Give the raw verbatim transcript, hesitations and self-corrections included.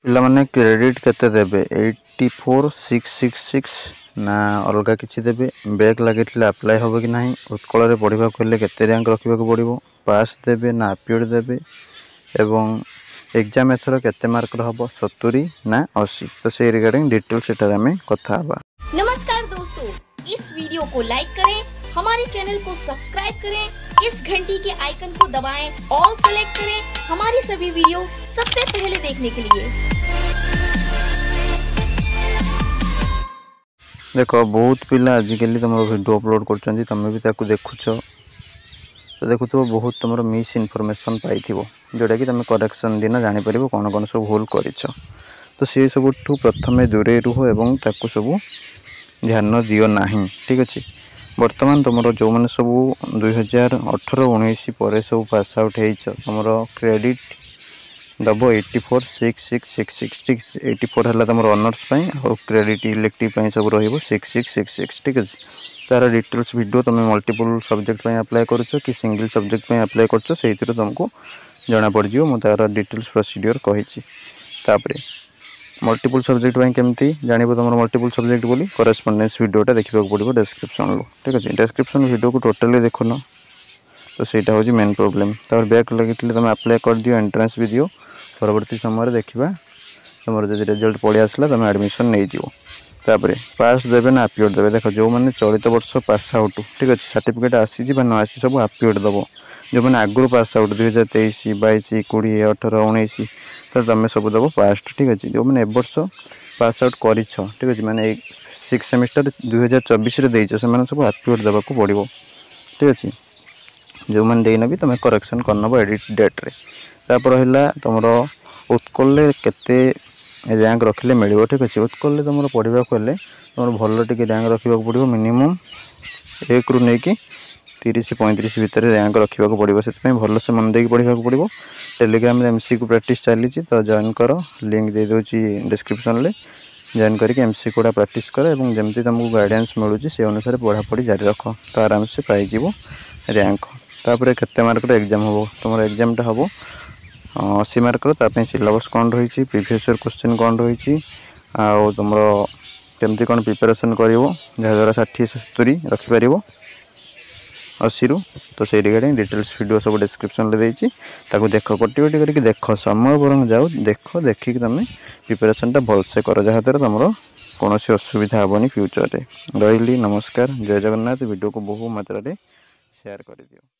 ପିଲାମାନେ କ୍ରେଡ଼ିଟ୍ କେତେ ଦେବେ eighty four six six six ନା ଅଲଗା କିଛି ଦେବେ ବ୍ୟାକ୍ ଲାଗିଥିଲେ ଆପ୍ଲାଏ ହେବ କି ନାହିଁ ଉତ୍କଳରେ ପଢ଼ିବାକୁ ହେଲେ କେତେ ର୍ୟାଙ୍କ ରଖିବାକୁ ପଡ଼ିବ ପାସ୍ ଦେବେ ନା ଆପିୟର୍ଡ଼ ଦେବେ ଏବଂ ଏକ୍ଜାମ୍ ଏଥର କେତେ ମାର୍କର ହେବ ସତୁରି ନା ଅଶୀ ତ ସେଇ ରିଗାର୍ଡ଼ିଂ ଡିଟେଲ୍ସ ସେଠାରେ ଆମେ କଥା ହେବା नमस्कार दोस्तों इस वीडियो को लाइक करें हमारे चैनल को सब्सक्राइब करें इस घंटी के आइकन को दबाएं, ऑल सेलेक्ट करें हमारी सभी वीडियो सबसे पहले देखने के लिए ଦେଖ ବହୁତ ପିଲା ଆଜିକାଲି ତୁମର ଭିଡ଼ିଓ ଅପଲୋଡ଼ କରୁଛନ୍ତି ତୁମେ ବି ତାକୁ ଦେଖୁଛ ତ ଦେଖୁଥିବ ବହୁତ ତୁମର ମିସ୍ ଇନଫର୍ମେସନ୍ ପାଇଥିବ ଯେଉଁଟାକି ତୁମେ କରେକ୍ସନ୍ ଦିନ ଜାଣିପାରିବ କ'ଣ କ'ଣ ସବୁ ଭୁଲ କରିଛ ତ ସେ ସବୁଠୁ ପ୍ରଥମେ ଦୂରେଇ ରୁହ ଏବଂ ତାକୁ ସବୁ ଧ୍ୟାନ ଦିଅ ନାହିଁ ଠିକ୍ ଅଛି ବର୍ତ୍ତମାନ ତୁମର ଯେଉଁମାନେ ସବୁ ଦୁଇହଜାର ଅଠର ଉଣେଇଶ ପରେ ସବୁ ପାସ୍ ଆଉଟ୍ ହେଇଛ ତୁମର କ୍ରେଡ଼ିଟ୍ ଦେବ eighty four six six six six ଠିକ୍ ଏଇଟି ଫୋର୍ ହେଲା ତୁମର ଅନର୍ସ ପାଇଁ ଆଉ କ୍ରେଡ଼ିଟ୍ ଇଲେକ୍ଟିଭ୍ ପାଇଁ ସବୁ ରହିବ ସିକ୍ସ ସିକ୍ସ ସିକ୍ସ ସିକ୍ସ ଠିକ୍ ଅଛି ତା'ର ଡିଟେଲ୍ସ ଭିଡ଼ିଓ ତୁମେ ମଲ୍ଟିପୁଲ୍ ସବଜେକ୍ଟ ପାଇଁ ଆପ୍ଲାଏ କରୁଛ କି ସିଙ୍ଗଲ୍ ସବଜେକ୍ଟ ପାଇଁ ଆପ୍ଲାଏ କରୁଛ ସେଇଥିରୁ ତୁମକୁ ଜଣାପଡ଼ିଯିବ ମୁଁ ତା'ର ଡିଟେଲ୍ସ ପ୍ରୋସିଡ଼ିଓର କହିଛି ତାପରେ ମଲ୍ଟିପୁଲ୍ ସବଜେକ୍ଟ ପାଇଁ କେମିତି ଜାଣିବ ତୁମର ମଲ୍ଟିପୁଲ୍ ସବଜେକ୍ଟ ବୋଲି କରେସ୍ପଣ୍ଡେନ୍ସ ଭିଡ଼ିଓଟା ଦେଖିବାକୁ ପଡ଼ିବ ଡେସ୍କ୍ରିପ୍ସନ୍ରୁ ଠିକ୍ ଅଛି ଡେସ୍କ୍ରିପ୍ସନ୍ ଭିଡ଼ିଓକୁ ଟୋଟାଲି ଦେଖୁନ ତ ସେଇଟା ହେଉଛି ମେନ୍ ପ୍ରୋବ୍ଲେମ୍ ତାପରେ ବ୍ୟାକ୍ ଲାଗିଥିଲେ ତୁମେ ଆପ୍ଲାଏ କରିଦିଅ ଏଣ୍ଟ୍ରାନ୍ସ ବି ଦିଅ ପରବର୍ତ୍ତୀ ସମୟରେ ଦେଖିବା ତୁମର ଯଦି ରେଜଲ୍ଟ ପଳେଇ ଆସିଲା ତୁମେ ଆଡ଼ମିସନ୍ ନେଇଯିବ ତାପରେ ପାସ୍ ଦେବେ ନା ଆପିୟର୍ଡ଼ ଦେବେ ଦେଖ ଯେଉଁମାନେ ଚଳିତ ବର୍ଷ ପାସ୍ ଆଉଟ୍ ଠିକ୍ ଅଛି ସାର୍ଟିଫିକେଟ୍ ଆସିଛି ବା ନ ଆସିଛି ସବୁ ଆପିୟର୍ଡ଼ ଦେବ ଯେଉଁମାନେ ଆଗରୁ ପାସ୍ ଆଉଟ୍ ଦୁଇହଜାର ତେଇଶ ବାଇଶ କୋଡ଼ିଏ ଅଠର ଉଣେଇଶ ତ ତୁମେ ସବୁ ଦେବ ପାସ୍ ଠିକ୍ ଅଛି ଯେଉଁମାନେ ଏ ବର୍ଷ ପାସ୍ ଆଉଟ୍ କରିଛ ଠିକ୍ ଅଛି ମାନେ ଏଇ ସିକ୍ସ ସେମିଷ୍ଟର ଦୁଇହଜାର ଚବିଶରେ ଦେଇଛ ସେମାନେ ସବୁ ଆପିୟର୍ଡ଼ ଦେବାକୁ ପଡ଼ିବ ଠିକ୍ ଅଛି ଯେଉଁମାନେ ଦେଇନ ବି ତୁମେ କରେକ୍ସନ୍ କରିନେବ ଏଡ଼ିଟ୍ ଡେଟ୍ରେ ତାପରେ ରହିଲା ତୁମର ଉତ୍କଳରେ କେତେ ର୍ୟାଙ୍କ ରଖିଲେ ମିଳିବ ଠିକ୍ ଅଛି ଉତ୍କଳରେ ତୁମର ପଢ଼ିବାକୁ ହେଲେ ତୁମର ଭଲ ଟିକେ ର୍ୟାଙ୍କ ରଖିବାକୁ ପଡ଼ିବ ମିନିମମ୍ ଏକରୁ ନେଇକି ତିରିଶ ପଇଁତିରିଶ ଭିତରେ ର୍ୟାଙ୍କ ରଖିବାକୁ ପଡ଼ିବ ସେଥିପାଇଁ ଭଲସେ ମନ ଦେଇକି ପଢ଼ିବାକୁ ପଡ଼ିବ ଟେଲିଗ୍ରାମରେ ଏମ୍ ସି କ୍ୟୁ ପ୍ରାକ୍ଟିସ୍ ଚାଲିଛି ତ ଜଏନ୍ କର ଲିଙ୍କ୍ ଦେଇଦେଉଛି ଡିସ୍କ୍ରିପ୍ସନ୍ରେ ଜଏନ୍ କରିକି ଏମ୍ ସି କ୍ୟୁଟା ପ୍ରାକ୍ଟିସ୍ କର ଏବଂ ଯେମିତି ତୁମକୁ ଗାଇଡ଼ାନ୍ସ ମିଳୁଛି ସେ ଅନୁସାରେ ପଢ଼ାପଢ଼ି ଜାରି ରଖ ତ ଆରାମସେ ପାଇଯିବ ର୍ୟାଙ୍କ ତାପରେ କେତେ ମାର୍କର ଏକ୍ଜାମ୍ ହେବ ତୁମର ଏକ୍ଜାମ୍ଟା ହେବ ଅଶୀ ମାର୍କର ତା ପାଇଁ ସିଲାବସ୍ କ'ଣ ରହିଛି ପ୍ରିଭିୟସ୍ ଇୟର୍ କୋଶ୍ଚିନ୍ କ'ଣ ରହିଛି ଆଉ ତୁମର କେମିତି କ'ଣ ପ୍ରିପାରେସନ୍ କରିବ ଯାହାଦ୍ୱାରା ଷାଠିଏ ସତୁରି ରଖିପାରିବ ଅଶୀରୁ ତ ସେଇ ରିଗାର୍ଡ଼ିଂ ଡିଟେଲ୍ସ ଭିଡ଼ିଓ ସବୁ ଡେସ୍କ୍ରିପ୍ସନ୍ରେ ଦେଇଛି ତାକୁ ଦେଖ ଗୋଟି ଗୋଟି କରିକି ଦେଖ ସମୟ ବରଂ ଯାଉ ଦେଖ ଦେଖିକି ତୁମେ ପ୍ରିପାରେସନ୍ଟା ଭଲସେ କର ଯାହାଦ୍ୱାରା ତୁମର କୌଣସି ଅସୁବିଧା ହେବନି ଫ୍ୟୁଚର୍ରେ ରହିଲି ନମସ୍କାର ଜୟ ଜଗନ୍ନାଥ ଭିଡ଼ିଓକୁ ବହୁ ମାତ୍ରାରେ ସେୟାର କରିଦିଅ